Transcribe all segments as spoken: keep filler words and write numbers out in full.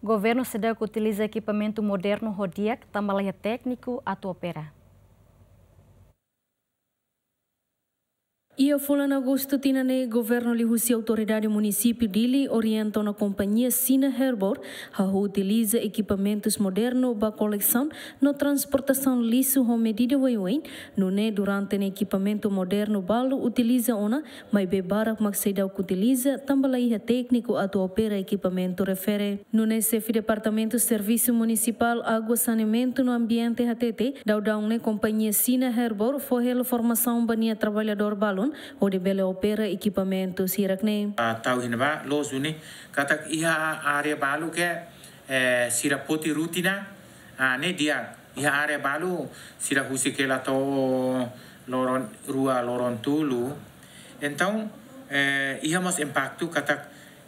Governu seidauk utiliza ekipamentu modernu ho di'ak, tanba laiha tékniku atu opera. Iha fulan Agostu tinan ne'e, governu liuhusi autoridade munisípiu Dili orienta ona kompañia China Herbor hahú utiliza ekipamentus modernu ba kolesaun no transportasaun lixu ho medida oioin. Nune'e durante ne'e ekipamentu modernu balu utiliza ona, maibé barak mak seidauk utiliza, tanba laiha tékniku atu opera ekipamentu refere. Nune'e xefe Departamentu Servisu Munisipál Água, Saneamentu no Ambiente hatete, daudaun ne'e kompañia China Herbor fó hela formasaun ba nia traballadór balun, hodi bele opera ekipamentu hirak ne'e. Ah, tau iha ne'ebá, loos duni, katak iha área balu ke, eh, sira poti rutina, ah, ne'e di'ak. Iha área balu sira husik hela to'o loron rua, loron tolu. Entaun, eh, iha mós impaktu katak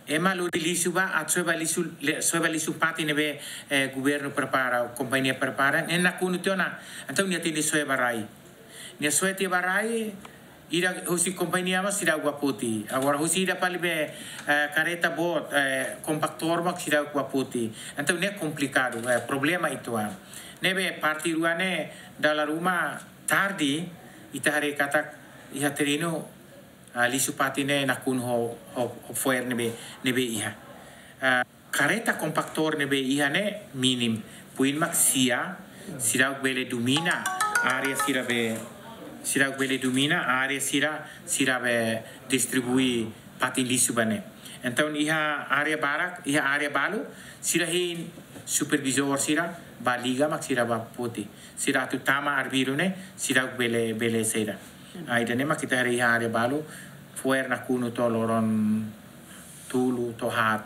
ema lori lixu ba, atu soe ba lixu, le-, soe ba lixu fatin ne'ebé, eh, governu prepara, kompañia prepara, ne'e nakonu tiha ona. Entaun nia tenke soe ba rai. Nia soe tiha ba rai, ida husi kompañia mós seidauk bá foti. Agora husi ida fali be, eh, karreta boot, eh, kompaktór mak seidauk bá foti. Entaun ne'e komplikadu, eh, problema uitoan. Ne'ebé parte rua ne'e dala ruma tarde, ita haree katak iha terrenu, ah, lixu fatin ne'e nakonu ho, ho, ho fo'er ne'ebé, ne'ebé iha. Ah, karreta kompaktór ne'ebé iha ne'e mínimu. Puin mak sia, seidauk bele domina área sira be, seidauk bele domina área sira, sira be distribui fatin lixu ba ne'e. Entaun iha área barak, iha área balu, sira hein supervizór sira, bá liga mak sira bá foti. Sira atu tama arbiru ne'e, seidauk bele, bele saida. Ah, ida-ne'e mak ita haree iha área balu, fo'er nakonu to'o loron tolu to'o haat.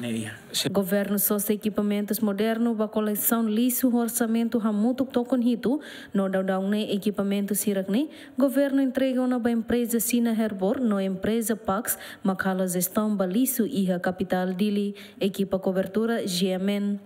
Ne'e iha. Governu sosa ekipamentus modernu ba kolesaun lixu ho orsamentu hamutuk tokon hitu, no daudaun ne'e ekipamentus hirak ne'e governu entrega ona ba empreza China Herbor no empreza Pax mak halo jestaun ba lixu iha kapitál Dili. Ekipa kobertura G M N.